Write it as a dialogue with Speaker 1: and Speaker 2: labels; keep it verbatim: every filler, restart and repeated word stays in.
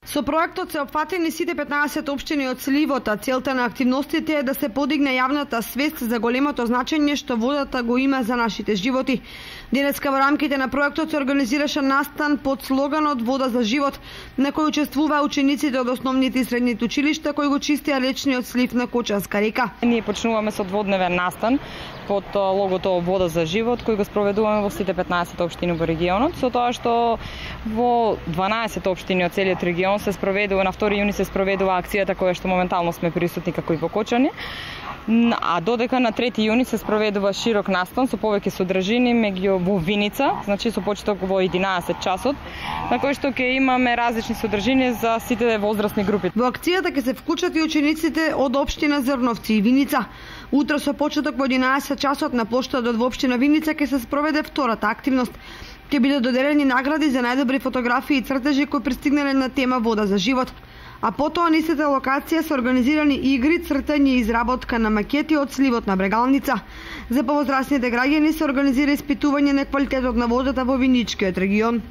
Speaker 1: Со проектот се опфатени сите петнаесет општини од сливот, а целта на активностите е да се подигне јавната свест за големото значење што водата го има за нашите животи. Денеска во рамките на проектот се организираше настан под слоганот Вода за живот, на кој учествуваа учениците од основните и средните училишта кои го чистеа речниот слив на Кочанска река.
Speaker 2: Ние почнуваме со дводневен настан под логото Вода за живот, кој го спроведуваме во сите петнаесет општини во регионот, со тоа што во дванаесет општини од целиот регион се спроведува, на втори јуни се спроведува акцијата која што моментално сме присутни како и во Кочани. А додека на трети јуни се спроведува широк настан со повеќе содржини меѓу во Виница, значи со почеток во единаесет часот, на кој што ќе имаме различни содржини за сите возрастни групи.
Speaker 1: Во акцијата ќе се вклучат и учениците од општина Зрновци и Виница. Утро со почеток во единаесет часот на плоштадот во општина Виница ќе се спроведе втората активност. Ќе бидат доделени награди за најдобри фотографии и цртежи кои пристигнале на тема Вода за живот. А потоа на истата локација се организирани игри, цртање и изработка на макети од сливот на Брегалница. За повозрастните граѓани се организира испитување на квалитетот на водата во Виничкиот регион.